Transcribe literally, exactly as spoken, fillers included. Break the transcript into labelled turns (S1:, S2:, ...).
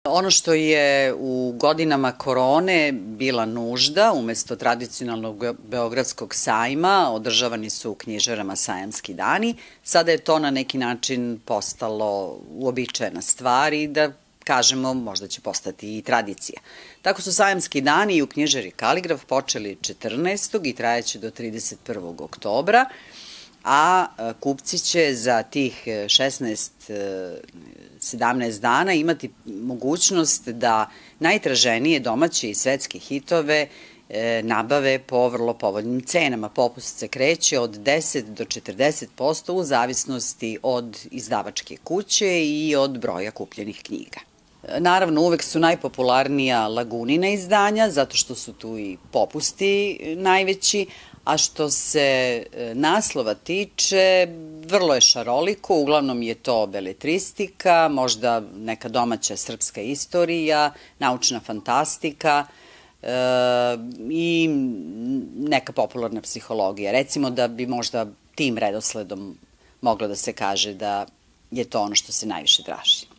S1: Ono što je u godinama korone bila nužda, umesto tradicionalnog Beogradskog sajma, održavani su u knjižarama sajamski dani. Sada je to na neki način postalo uobičajena stvar i da kažemo, možda će postati i tradicija. Tako su sajamski dani i u knjižari Kaligraf počeli četrnaestog i trajaće do trideset prvog oktobra, a kupci će za tih šesnaest sedamnaest dana imati mogućnost da najtraženije domaće i svetske hitove nabave po vrlo povoljnim cenama. Popust se kreće od deset do četrdeset posto u zavisnosti od izdavačke kuće i od broja kupljenih knjiga. Naravno, uvek su najpopularnija Lagunina izdanja, zato što su tu i popusti najveći, a što se naslova tiče, vrlo je šaroliko, uglavnom je to beletristika, možda neka domaća srpska istorija, naučna fantastika i neka popularna psihologija. Recimo da bi možda tim redosledom moglo da se kaže da je to ono što se najviše traži.